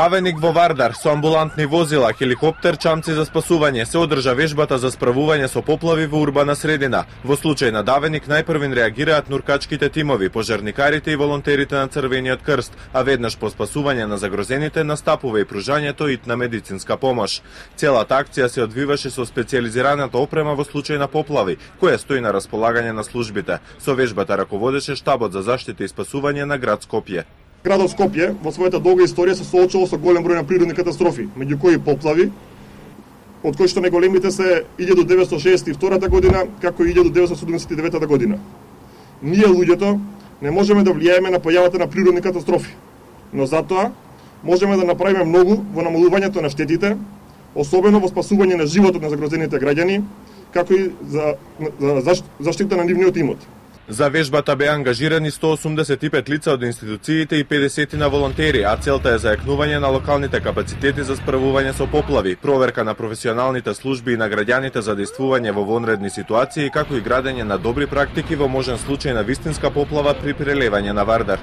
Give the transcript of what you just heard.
Давеник во Вардар со амбулантни возила, хеликоптер, чамци за спасување се одржа вежбата за справување со поплави во урбана средина. Во случај на Давеник најпрвин реагираат нуркачките тимови, пожарникарите и волонтерите на Црвениот крст, а веднаш по спасување на загрозените настапува и пружањето итна медицинска помош. Целата акција се одвиваше со специјализираната опрема во случај на поплави, која стои на располагање на службите. Со вежбата раководеше штабот за заштита и спасување на град Скопје. Градот Скопје во својата долга историја се соочува со голем број на природни катастрофи, меѓу кои поплави, од кои што најголемите се 1962 година, како и 1979 година. Ние, луѓето, не можеме да влијаеме на појавата на природни катастрофи, но затоа можеме да направиме многу во намалувањето на штетите, особено во спасување на животот на загрозените граѓани, како и за заштита на нивниот имот. За вежбата беа ангажирани 185 лица од институциите и 50 на волонтери, а целта е зајакнување на локалните капацитети за справување со поплави, проверка на професионалните служби и на граѓаните за действување во вонредни ситуации, како и градење на добри практики во можен случај на вистинска поплава при прелевање на Вардар.